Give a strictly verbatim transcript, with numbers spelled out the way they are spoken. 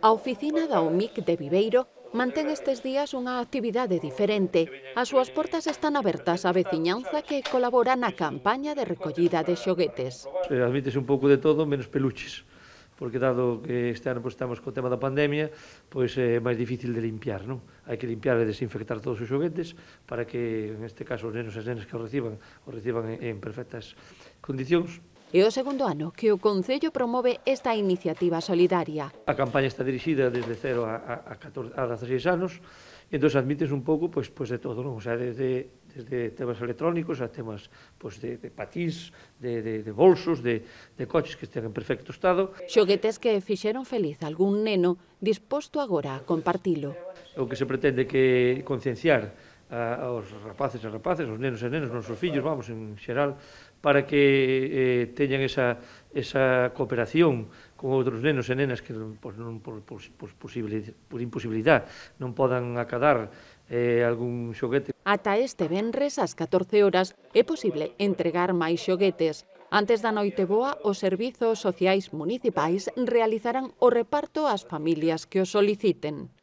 A oficina da O M I C de Viveiro mantén estes días unha actividade diferente. As súas portas están abertas á veciñanza que colabora na campaña de recollida de xoguetes. Eh, admítese un pouco de todo, menos peluches, porque dado que este ano pues, estamos co tema da pandemia, pois é máis difícil de limpiar, non? Hai que limpiar e desinfectar todos os xoguetes para que, en este caso, os nenos e as nenas que os reciban, os reciban en, en perfectas condicións. É o segundo ano que o Concello promove esta iniciativa solidaria. A campaña está dirixida desde cero a, a, catorce, a dezaseis anos, e entón admites un pouco pois, pois de todo, non? O sea, desde, desde temas electrónicos a temas pois, de, de patís, de, de, de bolsos, de, de coches que estén en perfecto estado. Xoguetes que fixeron feliz algún neno disposto agora a compartilo. O que se pretende que concienciar a, aos rapaces e rapaces, aos nenos e nenas, nosos fillos, vamos, en xeral, para que eh, teñan esa, esa cooperación con outros nenos e nenas que pues, non, por, por, por, por imposibilidade non podan acadar eh, algún xoguete. Ata este venres, ás catorce horas, é posible entregar máis xoguetes. Antes da Noiteboa, os servizos sociais municipais realizarán o reparto ás familias que os soliciten.